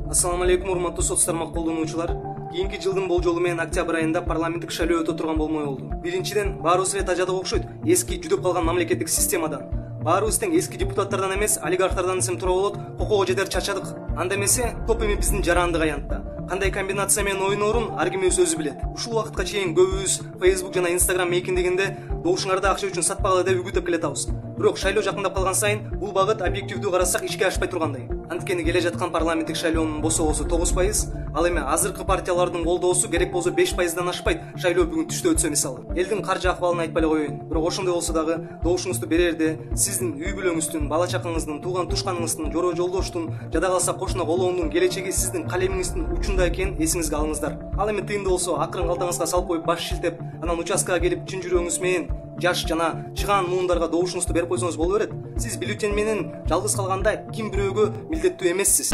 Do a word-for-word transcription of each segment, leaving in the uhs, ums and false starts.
Ассаламу алейкум, урматтуу соц тармак колдонуучулар. Кийинки жылдын болжолу менен октябрь айында парламенттик шайлоо өтө турган болмой болду. Биринчиден, баарыбыз эле тажадык окшойт, эски жүдөп калган мамлекеттик системадан. Баарыбыз тең эски депутаттардан эмес, олигархтардан десем туура болот, кокого жетер чачадык. Анда эмесе, топ эми биздин жарандык аянтта. Кандай комбинация менен ойноорун ар ким өзү билет. Ушул убакытка чейин көбүбүз Facebook жана Instagram мейкиндегенде добушуңарды акча үчүн сатпагыла деп үгүттөп келатабыз. Бирок шайлоо жакындап калган сайын бул багыт объективдүү карасак ишке ашпай тургандай. Анткени келе жаткан парламенттик шайлоонун босогосу тогуз пайыз, ал эми азыркы партиялардын колдоосу керек болсо беш пайыздан ашпайт. Шайлоо бүгүн түштө өтсө мисалы. Элдин каржы акыбалын айтпай эле коеюн. Бирок ошондой болсо дагы добушуңузду берерде сиздин үй бүлөңүздүн, бала чакаңыздын, тууган тушканыңыздын, жора жолдоштун, жада калса кошуна колоондун келечеги сиздин калемиңиздин учунда экенин эсиңизге алыңыздар. Ал эми тыйынды болсо акырын калтаңызга салып коюп баш шилтеп, анан участкага келип чын жүрөгүңүз менен жаш жана чыгаан муундарга добушуңузду берип койсоңуз боло берет. Сиз бюллетень менен жалгыз калганда ким бирөөгө милдеттүү эмессиз.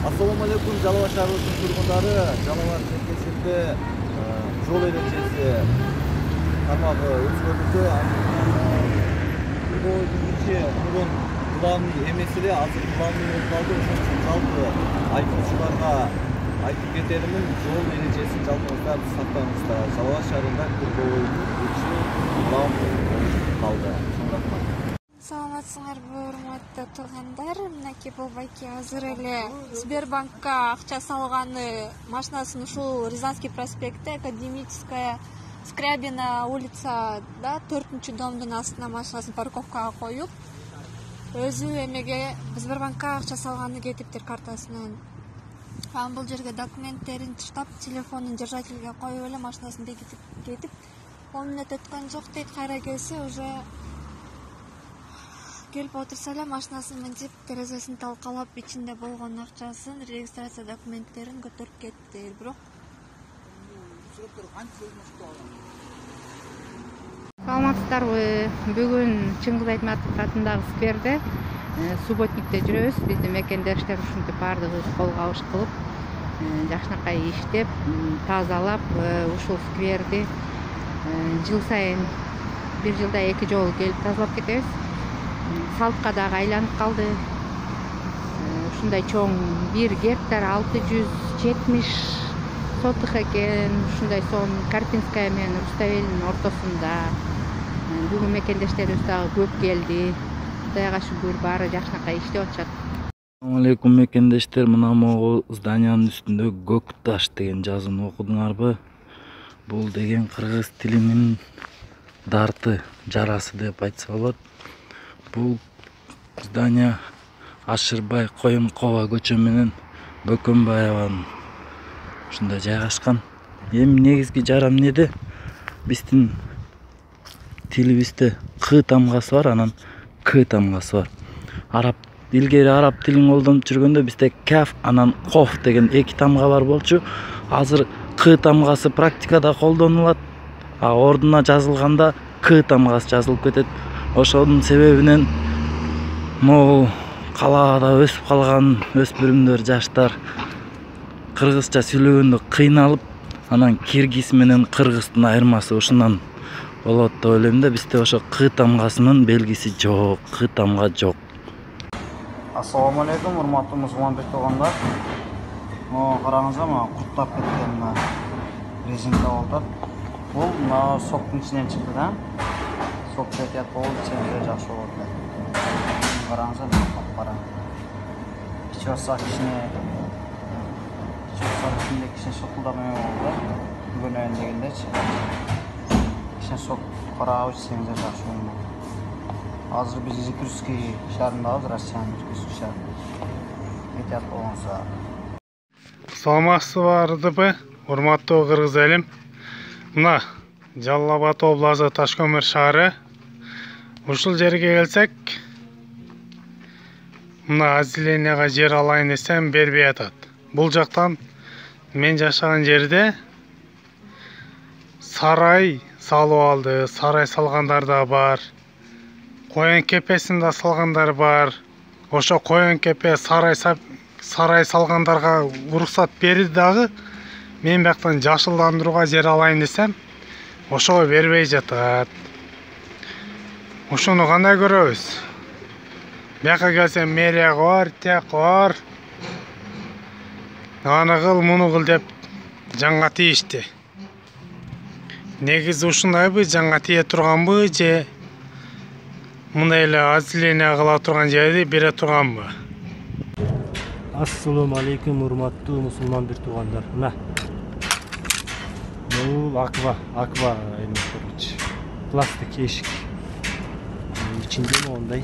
Ассаламу алейкум, Жалал Абад шаарынын тургундары. Жалал Абад чекесинде жол эрежеси тармагы өзгөртүлдү. Бул биринчи мурун главный эмес эле, азыр главный болуп калды. Ошон үчүн жалпы айдоочуларга айтып кетеримин, жол эрежесин жалпыңыздар сактаңыздар. Жалал Абад шаарында көбөйүп главный болуп калды. Саламатсыңарбы, урматтуу туугандар? Мынакей болбайки азыр эле Сбербанкка акча салганы машинасын ушул Рязанский проспектте, Академическая, Скрябина улицада төртүнчү домдун астына машинасын парковкага коюп, өзү эмеге Сбербанкка акча салганы кетиптир картасынан. Анан бул жерге документтерин таштап, телефонун держательге коюп эле машинасын бекитип кетип, он мүнөт өткөн жок дейт. Кайра келсе уже келип отурса эле машинасын минтип, терезесин талкалап, ичинде болгон акчасын, регистрация документтерин көтөрүп кетти. Бирок саламатсыздарбы? Бүгүн Чыңгыз Айтматов атындагы скверде субботникте жүрөбүз. Биздин мекендештер ушинтип баардыгыбыз кол кабыш кылып, жакшынакай иштеп, тазалап, ушул скверди жыл сайын бир жылда эки жолу келип тазалап кетебиз. Салтка дагы айланып калды. Ушундай чоң бир гектар алты жүз жетимиш сотых экен. Ушундай сон Карпинская менен Руставелдин ортосунда. Бүгүн мекендештерибиз дагы көп келди. Кудайга шүгүр, баары жакшынакай иштеп атышат. Ассаламу алейкум мекендештер, мына могу зданиянын үстүндө көк таш деген жазууну окудуңарбы? Бул деген кыргыз тилинин дарты, жарасы деп айтса болот. Бул здания Ашырбай Коюнкова көчө менен Бөкөнбаеванын ушунда жайгашкан. Эми негизги жара эмнеде? Биздин тилибизде К тамгасы бар, анан К тамгасы бар. Араб илгери араб тилин колдонуп жүргөндө бизде каф, анан коф деген эки тамга бар болчу. Азыр К тамгасы практикада колдонулат, а ордуна жазылганда К тамгасы жазылып кетет. Ошонун себебинен могу калаада өсүп калган өспүрүмдөр, жаштар кыргызча сүйлөгөндө кыйналып, анан киргиз менен кыргыздын айырмасы ушундан болот деп ойлойм да. Бизде ошо К тамгасынын белгиси жок, К тамга жок. Ассаламу алейкум, урматтуу мусулман туугандар. Могу караңыздар, мына курттап кеткен мына резинка болот. Бул мына соктун ичинен чыкты да. Сок кетет болуп, чемде жакшы болот. Караңыздар, капкара. Ичосак кичине ичосак ичинде кичине шокулдамай болду. Бүгүн дегендечи. Кичине сок карабыз, чемде жакшы болот. Азыр биз Иркутский шаарындабыз, Россиянын Иркутский шаарында. Кетет болгонсо. Саламатсыздарбы, урматтуу кыргыз элим? Мына Жалал Абад областы Ташкөмүр шаары. Ушул жерге келсек, мына азиленияга жер алайын десем бербей атат. Бул жактан мен жашаган жерде сарай салып алды, сарай салгандар да бар. Коен кепесин да салгандар бар. Ошо коен кепе сарай сарай салгандарга уруксат берди дагы. Мен бияктан жашылдандырууга жер алайын десем, ошого бербей жатат. Ошону кандай көрөбүз? Бияка келсем мэрия бар, тияк бар. Аны кыл, муну кыл деп жаңга тийишти. Негизи ушундайбы, жаңга тие турганбы же мындай эле азиление кыла турган жерди бере турганбы? Ассаламу алейкум, урматтуу мусулман бир туугандар. Мына. Бул аква, аква эме короче. Пластик эшик. Ичинде мондай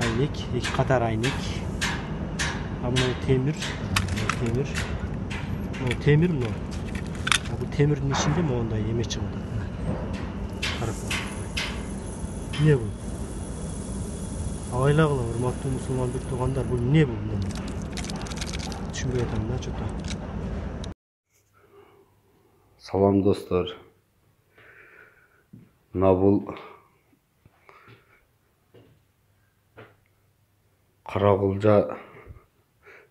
айнек, эки катар айнек. А мына темир, темир. Мына темир мына. А бул темирдин ичинде мондай эме чыгып атат. Карап. Не бул? Абайлагыла, урматтуу мусулман бир туугандар, бул не бул? Түшүнбөй атам да, чото. Салам достор. Мына бул Каракулжа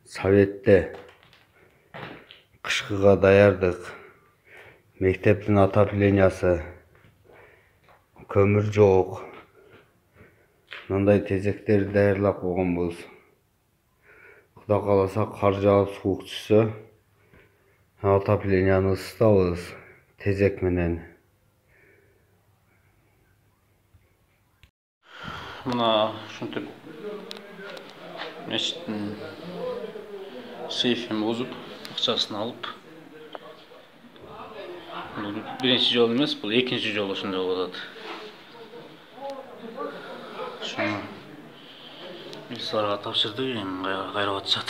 Советте кышкыга даярдык. Мектептин отоплениясы көмүр жок. Мындай тезектерди даярлап койгонбуз. Кудай кааласа кар жаап суук түшсө, отопленияны ысытабыз тезек менен. Мына ушинтип мечиттин сейфин бузуп, акчасын алып, бул биринчи жолу эмес, бул экинчи жолу ушундай болуп атат. Ошону милицияларга тапшырдык, эми кайрап атышат.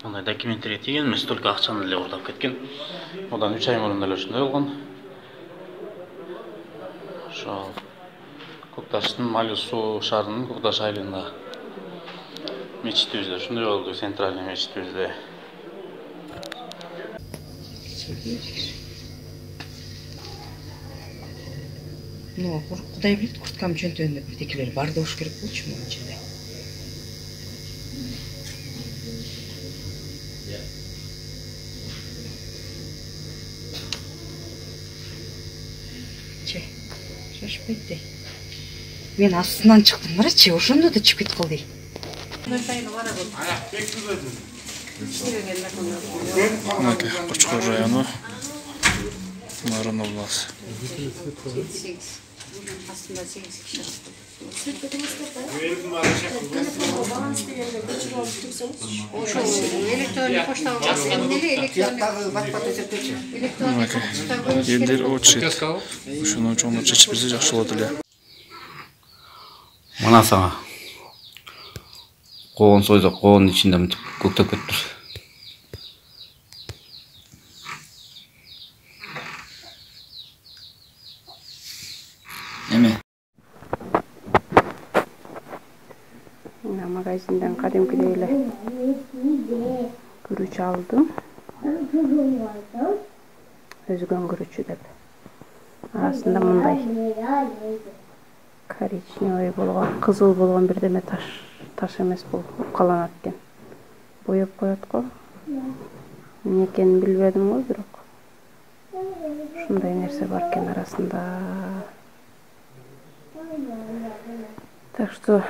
Мындай документтерге тийген эмес, только акчаны эле уурдап кеткен. Одан үч ай мурун эле ушундай болгон. Ошо Көкташтын Малю суу шаарынын Көкташ айылында мечитибизде ушундай болду, центральный мечитибизде. Ну, Кудай билет, курткам жөнтөөнү бирдекелер бар болуш керек болчу мунун ичинде. Че, шашпайт. Мен астынан чыктым, барачы, ошондо да чыгып калды. Мынакей Кочкор району Нарын областы. Элдер очит. Ушуну чоңдоп чечип берсе жакшы болот эле. Мына сага коон сойдук, коонун ичинде мынтип көктөп кетиптир. Эме Мына магазинден кадимкидей эле күрүч алдым. Өзгөн күрүчү деп. Арасында мындай коричневый болгон, кызыл болгон бирдеме таш, таш эмес бул, укаланат экен. Боеп коет го. Эмне экенин билбедим го, бирок ушундай нерсе бар экен арасында. Так что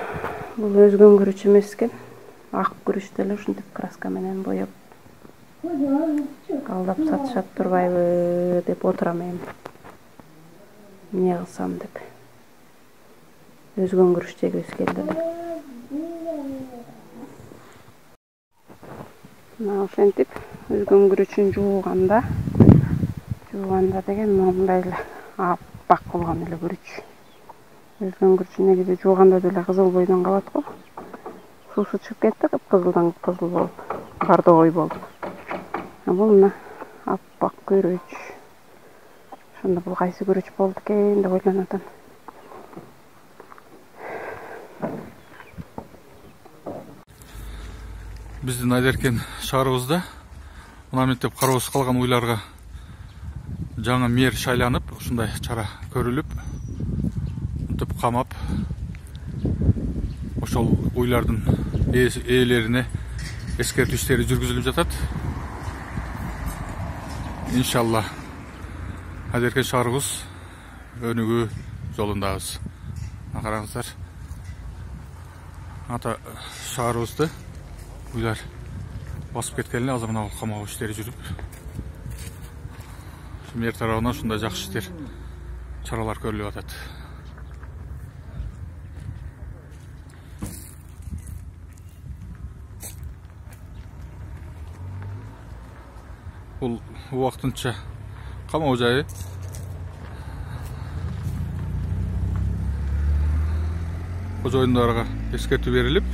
бул өзгөн күрүч эмес экен. Ак күрүч деле ушинтип краска менен боеп алдап сатышат турбайбы деп отурам эми. Эмне кылсам деп. Өзгөн күрүч дегибиз келди эле. Мына ошентип өзгөн күрүчүн жууганда, жууганда деген мындай эле аппак болгон эле күрүч. Өзгөн күрүчүн негизи жууганда деле кызыл бойдон калат го. Суусу чыгып кетти, кызылдан кызыл болуп, бардогой болуп. А бул мына аппак күрүч. Ошондо бул кайсы күрүч болду экен деп ойлонуп атам. Биздин Айдеркен шаарыбызда мына мектеп кароосуз калган уйларга жаңы мэр шайланып, ушундай чара көрүлүп, мынтип камап, ошол уйлардын ээлерине эскертүү иштери жүргүзүлүп жатат. Иншалла Азерке шаарыбыз өнүгүү жолундабыз. Караңыздар. Ата шаарыбызды үйлөр басып кеткенле азыр мына камоо иштери жүрүп. Мэр тарабынан ушундай жакшы иштер, чаралар көрүлүп атат. Бул убактынча камоо жайы. Кожоюндарга эскертүү берилип,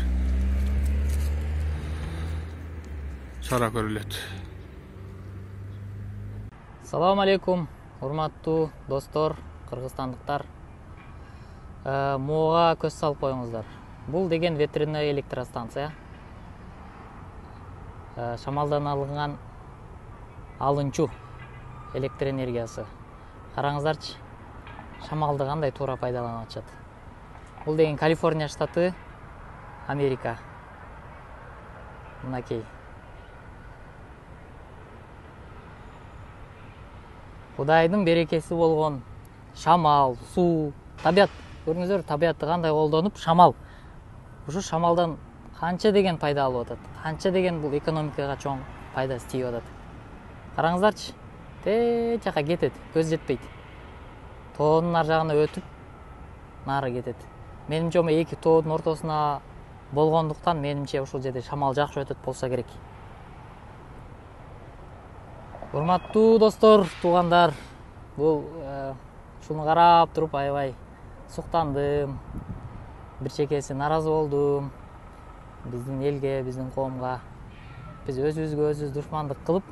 чара көрүлөт. Салам алейкум, урматтуу достор, кыргызстандыктар. Муга көз салып коюңуздар. Бул деген ветряной электростанция. Шамалдан алынган алынчу электр энергиясы. Караңыздарчы, шамалды кандай туура пайдаланып атышат. Бул деген Калифорния штаты, Америка. Мынакей. Кудайдын берекеси болгон шамал, суу, табият. Көрүңүздөр, табиятты кандай колдонуп, шамал. Ушу шамалдан канча деген пайда алып атат. Канча деген бул экономикага чоң пайдасы тийип атат. Караңыздарчы, тээ жака кетет, көз жетпейт. Тоонун ар жагына өтүп, нары кетет. Менимче омо эки тоодун ортосуна болгондуктан менимче ушул жерде шамал жакшы өтөт болсо керек. Урматтуу достор, туугандар, бул ушуну карап туруп аябай суктандым. Бир чекеси наразы болдум. Биздин элге, биздин коомго биз өзүбүзгө өзүбүз душмандык кылып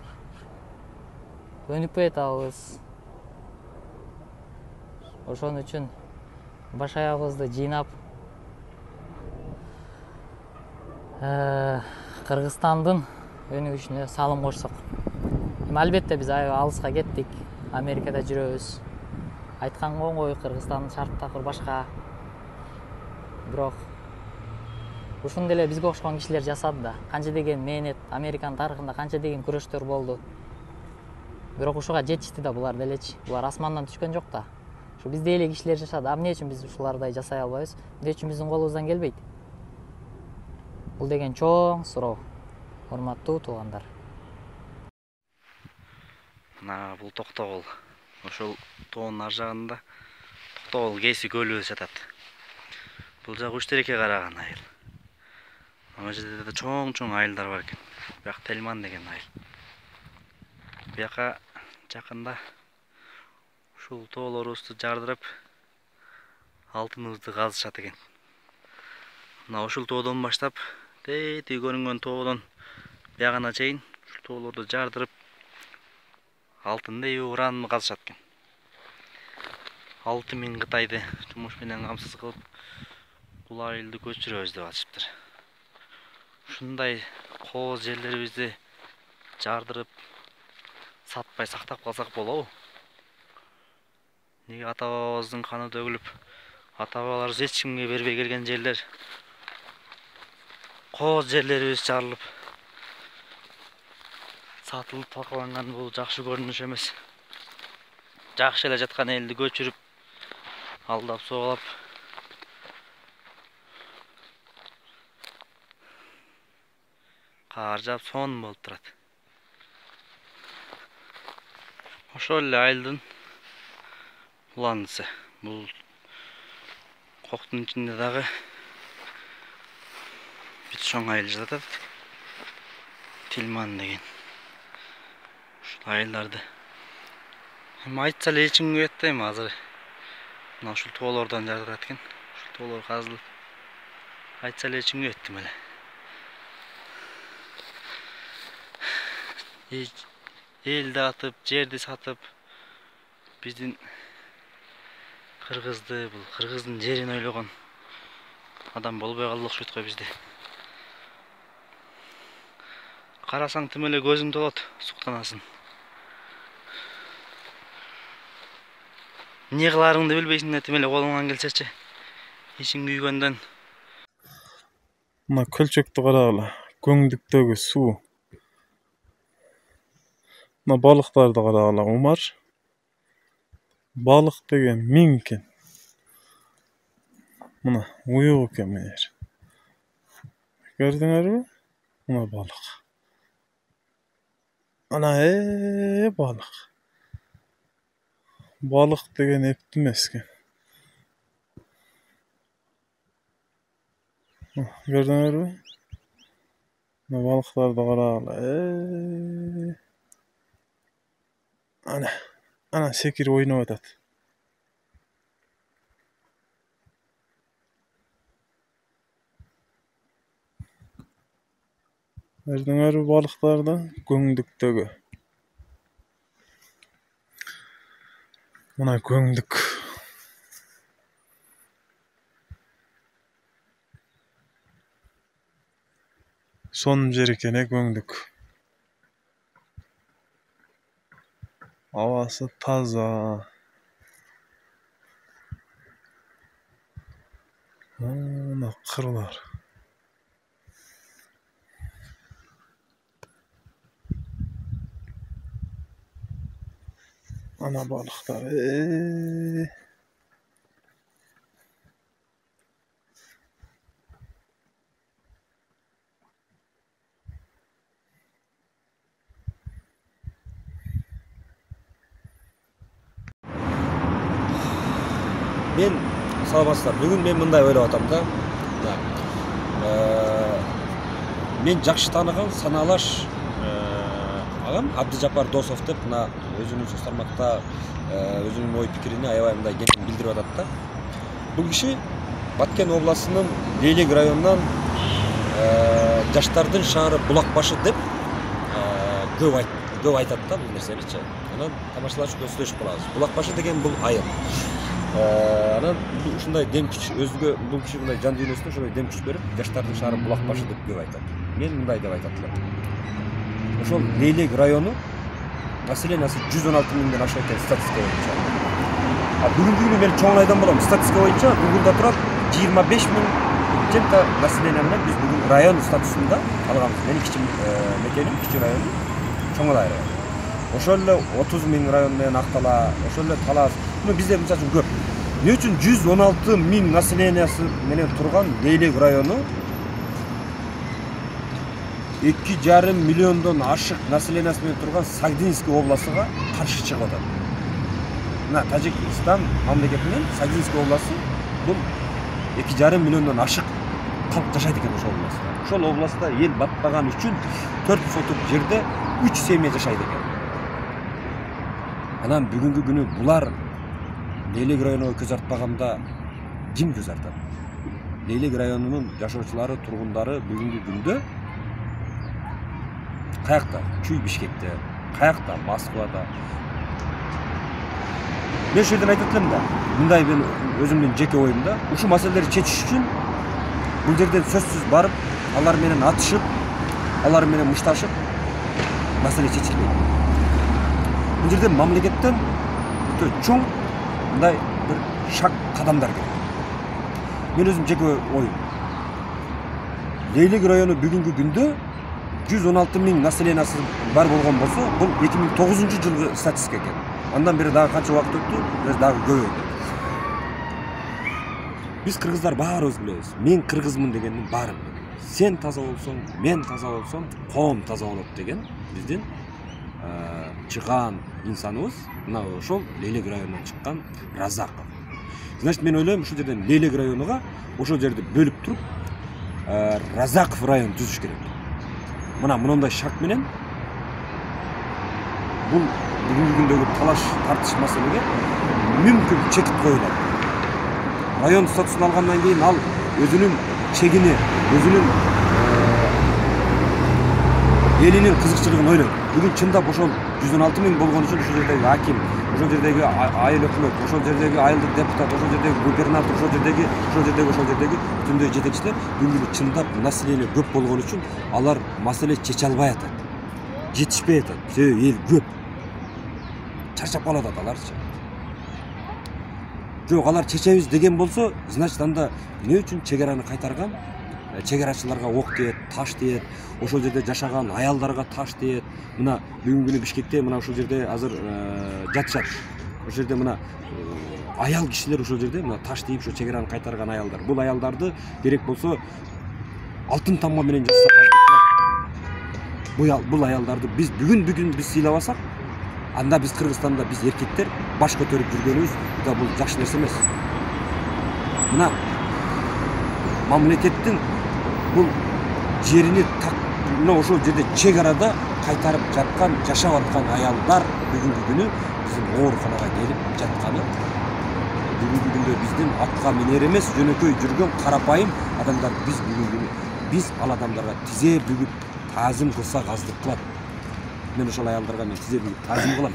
өнүкпөй атабыз. Ошон үчүн баш аягыбызды жыйнап Кыргызстандын өнүгүшүнө салым кошсок. Албетте биз аябай алыска кеттик. Америкада жүрөбүз. Айтканга оңой, Кыргызстандын шарттары башка. Бирок ушуну деле бизге окшогон кишилер жасады да. Канча деген мээнет, Американын тарыхында канча деген күрөштөр болду. Бирок ушуга жетишти да булар делечи. Булар асмандан түшкөн жок да. Ушу бизде эле кишилер жашады. А эмне үчүн биз ушулардай жасай албайбыз? Эмне үчүн биздин колубуздан келбейт? Бул деген чоң суроо. Урматтуу туугандар. Мына бул Токтогул. Ошол тоонун ар жагында Токтогул Кээси көлү жатат. Бул жагы Учтерекке караган айыл. Ана жерде да чоң-чоң айылдар бар экен. Бияк Телман деген айыл. Бияка жакында ушул тоолорубузду жардырып алтыныбызды казышат экен. Мына ушул тоодон баштап тетиги көрүнгөн тоодон биягына чейин ушул тоолорду жардырып алтынды уранды казышат экен. алты миң Кытайды жумуш менен камсыз кылып бул айылды көчүрөбүз деп атышыптыр. Ушундай кооз жерлерибизди жардырып сатпай сактап калсак болобу? Неге ата бабабыздын каны төгүлүп, ата бабаларыбыз эч кимге бербей келген жерлер, кооз жерлерибиз жарылып, сатылып талкаланган бул жакшы көрүнүш эмес. Жакшы эле жаткан элди көчүрүп, алдап соолап, кар жаап сонун болуп турат. Ошол эле айылдын уландысы. Бул коктун ичинде дагы бир чоң айыл жатат. Тилман деген. Ушул айылдарды эми айтса эле эч кимге жетпейм азыр. Мына ушул тоолордон жардырат экен. Ушул тоолор казылып айтса эле эч кимге жеттим эле. Элди атып, жерди сатып, биздин кыргызды, бул кыргыздын жерин ойлогон адам болбой калды окшойт го бизде. Карасаң тим эле көзүң толот, суктанасың. Эмне кыларыңды билбейсиң да тим эле колуңан келсечи. Ичиң күйгөндөн. Мына көлчөктү карагыла, көңдүктөгү суу. Мына балыктарды карагыла, умар. Балык деген миң экен. Мына уюк экен менер. Көрдүңөрбү? Мына балык. Ана э балык. Балык деген эптик эмес экен. Көрдүңөрбү? Мына балыктарды карагыла. Э Ана, ана секирип ойноп атат. Көрдүңөрбү балыктарды? Көңдүктөгү. Мына көңдүк. Сонун жер экен э көңдүк. Абасы таза. Мына кырлар. Ана балыктар. Э Мен саламатсыздар. Бүгүн мен мындай ойлоп атам да. Мен жакшы тааныган саналаш агам Абдыжапар Досов деп мына өзүнүн соц тармакта өзүнүн ой пикирин аябай мындай кең билдирип атат да. Бул киши Баткен областынын Лейлек районунан жаштардын шаары Булакбашы деп көп айт көп айтат да бул нерсеничи. Анан тамашалаш көздөшүп калабыз. Булакбашы деген бул айыл. Анан ушундай дем күч өзгө бул киши мындай жан дүйнөсүнө ошондой дем күч берип, жаштардын шаары Булакбашы деп көп айтат. Мен мындай деп айтат элем. Ошол Лейлек району населениясы жүз он алты миңден ашат экен статистика боюнча. А бүгүнкү күнү мен чоң айдан болом. Статистика боюнча Гуглда турат жыйырма беш миң чемта население менен биз бүгүн район статусунда алганбыз. Менин кичи мекеним, кичи району Чоңалай району. Ошол эле отуз миң район менен Актала, ошол эле Талас. Мына бизде мисалы үчүн көп. Эмне үчүн жүз он алты миң населениясы менен турган Лейлек району эки жарым миллиондон ашык населениясы менен турган Сагдинский областыга каршы чыгып атат. Мына Тажикстан мамлекетинин Сагдинский областы бул эки жарым миллиондон ашык калк жашайт экен ошол областта. Ошол областта эл батпаган үчүн төрт сотук жерде үч семья жашайт экен. Анан бүгүнкү күнү булар Лейлек районуна көз артпаганда ким көз артат? Лейлек районунун жашоочулары, тургундары бүгүнкү күндө каякта? Чүй Бишкекте, каякта? Москвада. Мен ушул жерден айтат элем да, мындай мен өзүмдүн жеке оюмда, ушул маселелерди чечиш үчүн бул жерден сөзсүз барып, алар менен атышып, алар менен мушташып маселе чечилбейт. Бул жерде мамлекеттен өтө чоң мындай бир шаг кадамдар керек. Мен өзүм жеке оюм. Лейлек району бүгүнкү күндө жүз он алты миң населениясы бар болгон болсо, бул эки миң тогузунчу жылгы статистика экен. Андан бери дагы канча убакыт өттү, биз дагы көбөйдү. Биз кыргыздар баарыбыз билебиз. Мен кыргызмын дегендин баарын билебиз. Сен таза болсоң, мен таза болсом, коом таза болот деген биздин чыган инсаныбыз мына ошол Лейлек районунан чыккан Разаков. Значит, мен ойлойм ушул жерден Лейлек районуга ошол жерди бөлүп туруп Разаков район түзүш керек. Мына мындай шарт менен бул бүгүнкү күндөгү талаш тартыш маселеге мүмкүн чекит коюлат. Район статусун алгандан кийин ал өзүнүн чегини, өзүнүн элинин кызыкчылыгын ойлойт. Бүгүн чындап ошол жүз он алты миң болгон үчүн ошол жердеги аким, ошол жердеги айыл өкмөт, ошол жердеги айылдык депутат, ошол жердеги губернатор, ошол жердеги, ошол жердеги, ошол жердеги бүтүндөй жетекчилер бүгүн чындап население көп болгон үчүн алар маселе чече албай атат. Жетишпей атат. Себеби эл көп. Чарчап калып атат аларчы. Жок, алар чечебиз деген болсо, значит анда эмне үчүн чек араны кайтарган? Чек-арачыларга ок тиет, таш тиет, ошол жерде жашаган аялдарга таш тиет. Мына бүгүнкү күнү Бишкекте мына ушул жерде азыр жатышат. ошол жерде мына аял кишилер ошол жерде мына таш тийип ошо чек араны кайтарган аялдар. Бул аялдарды керек болсо алтын тамга менен бул аялдарды биз бүгүн бүгүн биз сыйлабасак, анда биз Кыргызстанда биз эркектер баш көтөрүп жүргөнүбүз да бул жакшы нерсе эмес. Мына мамлекеттин бул жерини мына ошол жерде чек арада кайтарып жаткан, жашап аткан аялдар бүгүнкү күнү биздин ооруканага келип жатканы, бүгүнкү күндө биздин атка минер эмес, жөнөкөй жүргөн карапайым адамдар биз бүгүнкү күнү биз ал адамдарга тизе бүгүп таазим кылсак аздык кылат. Мен ошол аялдарга мен тизе бүгүп таазим кылам.